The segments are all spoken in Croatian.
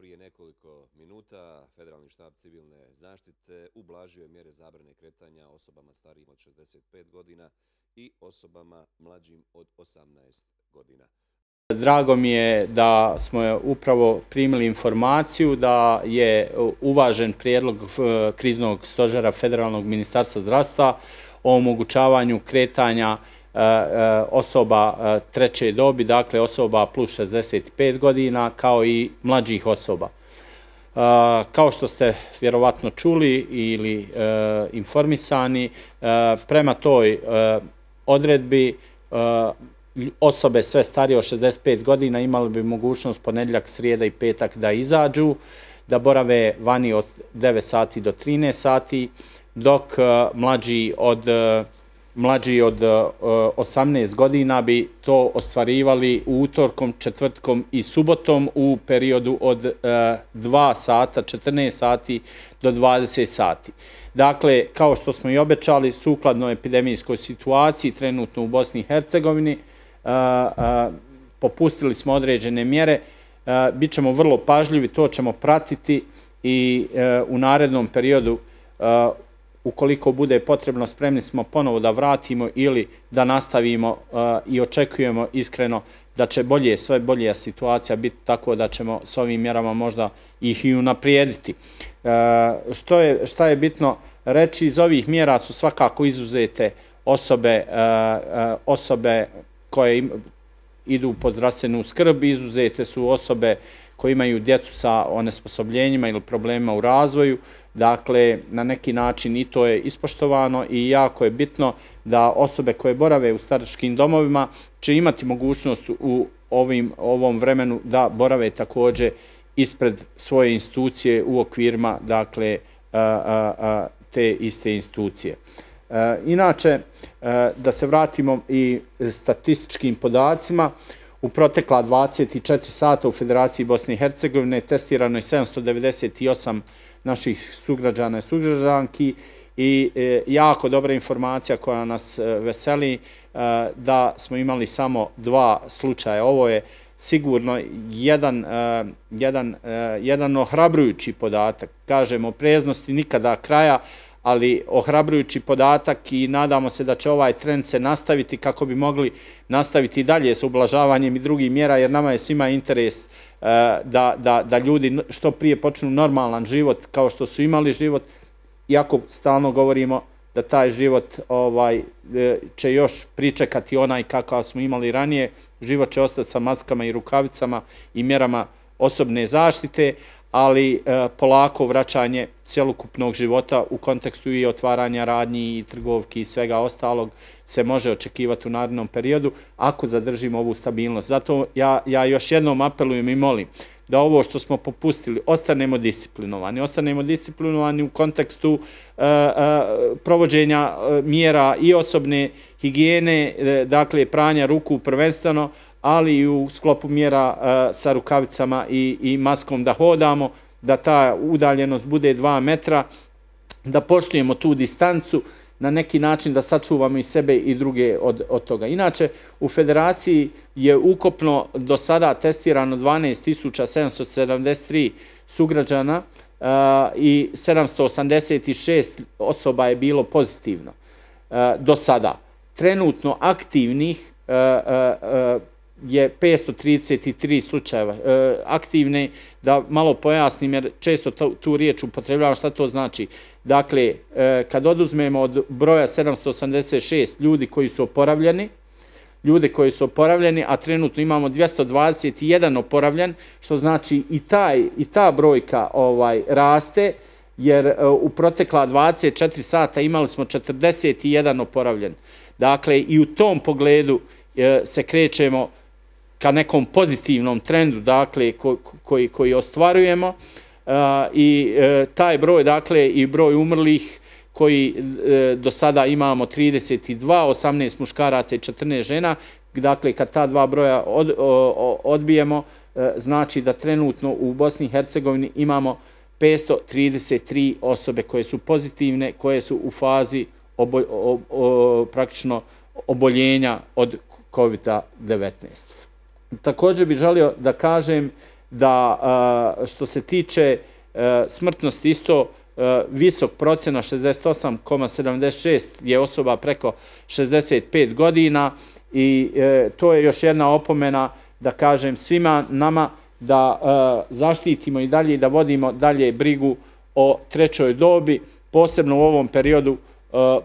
Prije nekoliko minuta Federalni štab civilne zaštite ublažio je mjere zabrane kretanja osobama starijim od 65 godina i osobama mlađim od 18 godina. Drago mi je da smo upravo primili informaciju da je uvažen prijedlog kriznog stožera Federalnog ministarstva zdravstva o omogućavanju kretanja osoba treće dobi, dakle osoba plus 65 godina, kao i mlađih osoba. Kao što ste vjerovatno čuli ili informisani, prema toj odredbi osobe sve starije od 65 godina imali bi mogućnost ponedjeljak, srijeda i petak da izađu, da borave vani od 9 sati do 13 sati, dok mlađi od 18 godina bi to ostvarivali utorkom, četvrtkom i subotom u periodu od 2 sata, 14 sati do 20 sati. Dakle, kao što smo i obećali, sukladno epidemijskoj situaciji trenutno u Bosni i Hercegovini, popustili smo određene mjere, bit ćemo vrlo pažljivi, to ćemo pratiti i u narednom periodu, ukoliko bude potrebno, spremni smo ponovo da vratimo ili da nastavimo i očekujemo iskreno da će sve bolja situacija biti, tako da ćemo s ovim mjerama možda ih i unaprijediti. Šta je bitno reći, iz ovih mjera su svakako izuzete osobe koje idu po zdravstvenu skrb, izuzete su osobe koje imaju djecu sa onesposobljenjima ili problemima u razvoju. Dakle, na neki način i to je ispoštovano i jako je bitno da osobe koje borave u staračkim domovima će imati mogućnost u ovom vremenu da borave također ispred svoje institucije u okvirima, dakle, te iste institucije. Inače, da se vratimo i statističkim podacima, u protekla 24 sata u Federaciji Bosne i Hercegovine testirano je 798 naših sugrađana i sugrađanki i jako dobra informacija koja nas veseli da smo imali samo 2 slučaja. Ovo je sigurno jedan ohrabrujući podatak. Kažemo, opreznosti nikada kraja, ali ohrabrujući podatak i nadamo se da će ovaj trend se nastaviti kako bi mogli nastaviti dalje s ublažavanjem i drugih mjera, jer nama je svima interes da ljudi što prije počnu normalan život kao što su imali život, iako stalno govorimo da taj život će još pričekati onaj kakav smo imali ranije. Život će ostati sa maskama i rukavicama i mjerama osobne zaštite, ali polako vraćanje cjelokupnog života u kontekstu i otvaranja radnji i trgovki i svega ostalog se može očekivati u narednom periodu ako zadržimo ovu stabilnost. Zato ja još jednom apelujem i molim da ovo što smo popustili ostanemo disciplinovani u kontekstu provođenja mjera i osobne higijene, dakle pranja ruku prvenstveno, ali i u sklopu mjera sa rukavicama i maskom da hodamo, da ta udaljenost bude 2 metra, da poštujemo tu distancu, na neki način da sačuvamo i sebe i druge od toga. Inače, u Federaciji je ukupno do sada testirano 12.773 sugrađana i 786 osoba je bilo pozitivno do sada. Trenutno aktivnih je 533 slučajeva. Aktivne, da malo pojasnim jer često tu riječ upotrebljavam, šta to znači. Dakle, kad oduzmemo od broja 786 ljudi koji su oporavljeni, a trenutno imamo 221 oporavljen, što znači i ta brojka raste, jer u protekla 24 sata imali smo 41 oporavljen. Dakle, i u tom pogledu se krećemo ka nekom pozitivnom trendu, dakle, koji ostvarujemo, i taj broj, dakle, i broj umrlih koji do sada imamo 32, 18 muškaraca i 14 žena, dakle, kad ta 2 broja odbijemo, znači da trenutno u Bosni i Hercegovini imamo 533 osobe koje su pozitivne, koje su u fazi praktično oboljenja od COVID-19. Također bih želio da kažem da što se tiče smrtnosti isto visok procena 68,76 je osoba preko 65 godina i to je još jedna opomena da kažem svima nama da zaštitimo i dalje i da vodimo dalje brigu o trećoj dobi, posebno u ovom periodu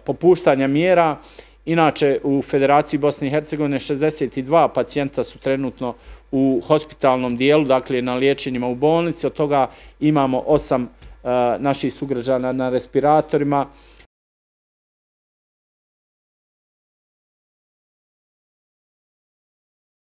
popuštanja mjera. Inače, u Federaciji Bosne i Hercegovine 62 pacijenta su trenutno u hospitalnom dijelu, dakle na liječenjima u bolnici, od toga imamo 8 naših sugrađana na respiratorima